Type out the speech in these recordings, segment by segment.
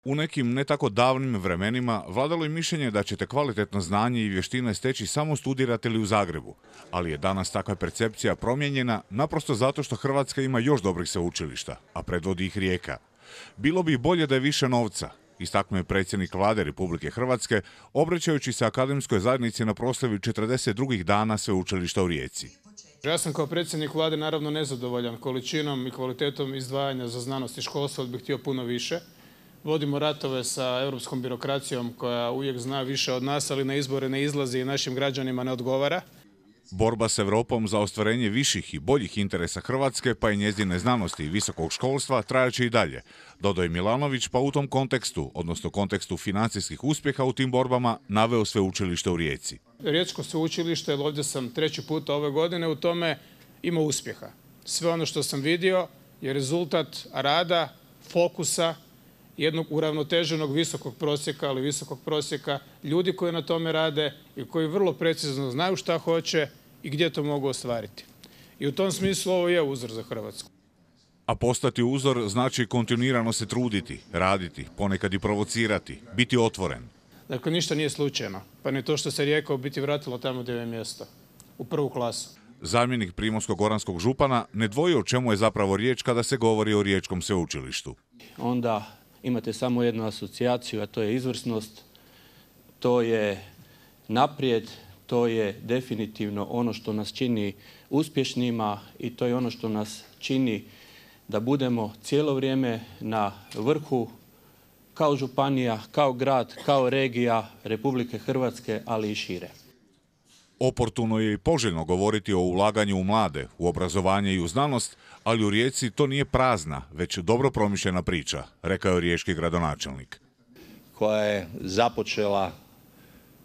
U nekim ne tako davnim vremenima vladalo je mišljenje da ćete kvalitetno znanje i vještine steći samo studirate li u Zagrebu, ali je danas takva percepcija promijenjena naprosto zato što Hrvatska ima još dobrih sveučilišta, a predvodi ih Rijeka. Bilo bi bolje da je više novca, istaknuo je predsjednik Vlade Republike Hrvatske, obraćajući se akademskoj zajednici na proslavi 42. dana sveučilišta u Rijeci. Ja sam kao predsjednik Vlade naravno nezadovoljan količinom i kvalitetom izdvajanja za znanost i školstvo, ali bih htio puno više. Vodimo ratove sa europskom birokracijom koja uvijek zna više od nas, ali na izbore ne izlazi i našim građanima ne odgovara. Borba s Europom za ostvarenje viših i boljih interesa Hrvatske, pa i njezine znanosti i visokog školstva, trajaće i dalje, dodao je Milanović, pa u tom kontekstu, odnosno kontekstu financijskih uspjeha u tim borbama, naveo sveučilište u Rijeci. Riječko sveučilište, ovdje sam 3. puta ove godine, u tome ima uspjeha. Sve ono što sam vidio je rezultat rada, fokusa, jednog uravnoteženog visokog prosjeka, ali visokog prosjeka, ljudi koji na tome rade i koji vrlo precizno znaju šta hoće i gdje to mogu ostvariti. I u tom smislu ovo je uzor za Hrvatsku. A postati uzor znači kontinuirano se truditi, raditi, ponekad i provocirati, biti otvoren. Dakle, ništa nije slučajno, pa ni to što se Rijeka u biti vratilo tamo gdje je mjesto, u prvu klasu. Zamjenik primorsko-goranskog župana ne dvoji o čemu je zapravo riječ kada se govori o Riječkom sveučilištu. Onda imate samo jednu asocijaciju, a to je izvrsnost, to je naprijed, to je definitivno ono što nas čini uspješnima i to je ono što nas čini da budemo cijelo vrijeme na vrhu kao županija, kao grad, kao regija Republike Hrvatske, ali i šire. Oportuno je i poželjno govoriti o ulaganju u mlade, u obrazovanje i u znanost, ali u Rijeci to nije prazna, već dobro promišljena priča, rekao je riječki gradonačelnik. Koja je započela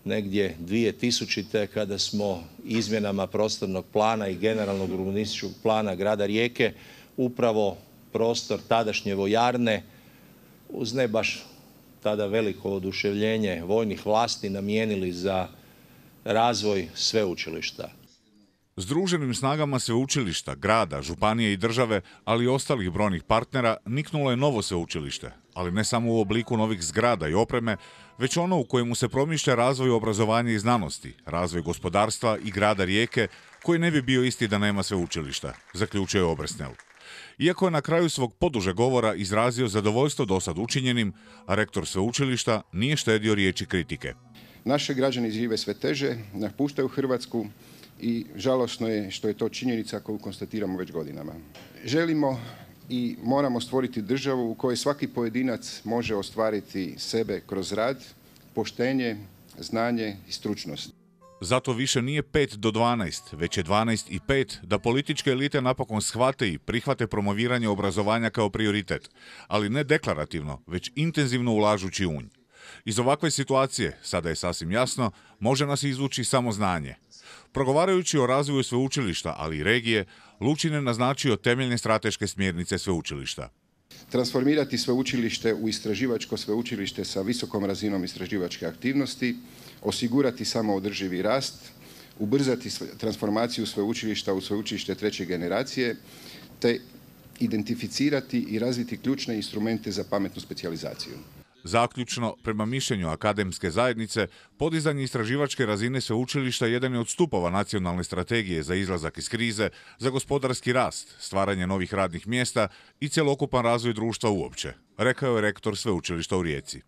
negdje 2000. kada smo izmjenama prostornog plana i generalnog urbanističkog plana grada Rijeke upravo prostor tadašnje vojarne uz ne baš tada veliko oduševljenje vojnih vlasti namijenili za razvoj sveučilišta. Združenim snagama sveučilišta, grada, županije i države, ali i ostalih brojnih partnera, niknulo je novo sveučilište, ali ne samo u obliku novih zgrada i opreme, već ono u kojemu se promišlja razvoj obrazovanja i znanosti, razvoj gospodarstva i grada Rijeke, koji ne bi bio isti da nema sveučilišta, zaključuje Obersnel. Iako je na kraju svog poduže govora izrazio zadovoljstvo dosad učinjenim, a rektor sveučilišta nije štedio riječi kritike. Naši građani žive sve teže, napuštaju Hrvatsku i žalosno je što je to činjenica koju konstatiramo već godinama. Želimo i moramo stvoriti državu u kojoj svaki pojedinac može ostvariti sebe kroz rad, poštenje, znanje i stručnost. Zato više nije 5 do 12, već je 12 i 5 da političke elite napokon shvate i prihvate promoviranje obrazovanja kao prioritet, ali ne deklarativno, već intenzivno ulažući u nj. Iz ovakve situacije, sada je sasvim jasno, može nas izvući samo znanje. Progovarajući o razvoju sveučilišta, ali i regije, Lučin je naznačio temeljne strateške smjernice sveučilišta. Transformirati sveučilište u istraživačko sveučilište sa visokom razinom istraživačke aktivnosti, osigurati samoodrživi rast, ubrzati transformaciju sveučilišta u sveučilište 3. generacije, te identificirati i razviti ključne instrumente za pametnu specijalizaciju. Zaključno, prema mišljenju akademske zajednice, podizanje istraživačke razine sveučilišta jedan je od stupova nacionalne strategije za izlazak iz krize, za gospodarski rast, stvaranje novih radnih mjesta i cjelokupan razvoj društva uopće, rekao je rektor sveučilišta u Rijeci.